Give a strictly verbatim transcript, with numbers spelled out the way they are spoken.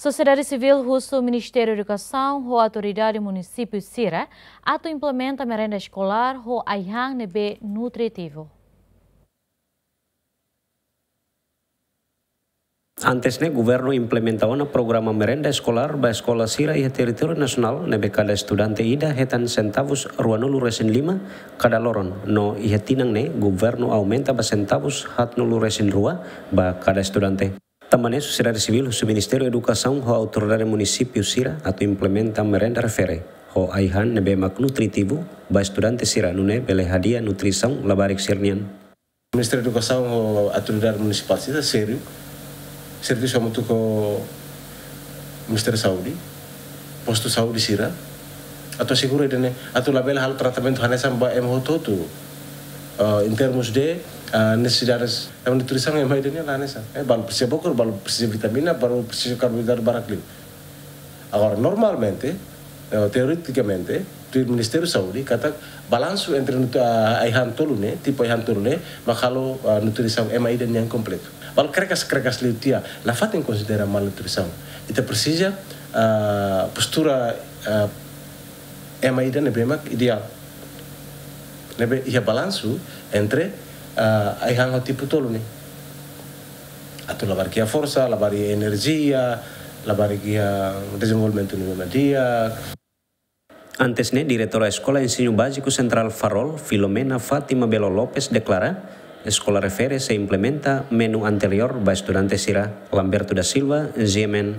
Sosiedade sivíl husu Ministériu Edukasaun ho autoridade munisípiu sira atu implementa merenda eskolár ho ai-han ne'ebé nutritivu. Antes ne'e, governu implementa ona programa merenda eskolár ba eskola sira iha territóriu nasionál, ne'ebé kada estudante ida hetan sentavus ruanulu resin lima kada loron, no iha tinan ne'e governu aumenta ba sentavus haatnulu resin rua ba kada estudante. Tanba ne'e, sosiedade sivíl husu Ministériu Edukasaun ho autoridade munisípiu sira atu implementa merenda refere ho ai-han ne'ebé mak nutritivu ba estudante sira, nune'e bele hadi'a nutrisaun labarik sira-nian. Ministériu Edukasaun ho autoridade munisipál sira sériu, servisu hamutuk ho Ministériu Saúde, postu saúde sira, atu asegura ida-ne'e, atu labele halo tratamentu hanesan ba ema hotu-hotu. Ah, em termos de, ah, necessidades, ema nutrisaun ema ida-ne'e la hanesan. Eh, balu presiza bokur, balu presiza vitamina, balu presiza karboidratu barak liu. Agora, normalmente, eh, teoretikamente, tuir Ministériu Saúde, katak balansu entre nut-, ah, ai-han tolu ne'e, tipu ai-han tolu ne'e, mak halo, ah, nutrisaun ema ida nian kompletu. Balu krekas, krekas liu tiha, nafatin konsidera malnutrisaun. Ita presiza, ah, postura, ah, ema ida ne'ebé mak ideál. Ne'ebé iha balansu entre, ah, ai-han ho tipu tolu ne'e. Atu labarik iha forsa, labarik iha enerjia, labarik iha dezenvolvimentu ne'ebé mak di'ak. Antes ne'e, diretora Eskola Ensinu Báziku Sentrál Farol, Filomena Fátima Belo Lopes, deklara, eskola refere sei implementa menu anteriór ba estudante sira. Lamberto da Silva, G M N.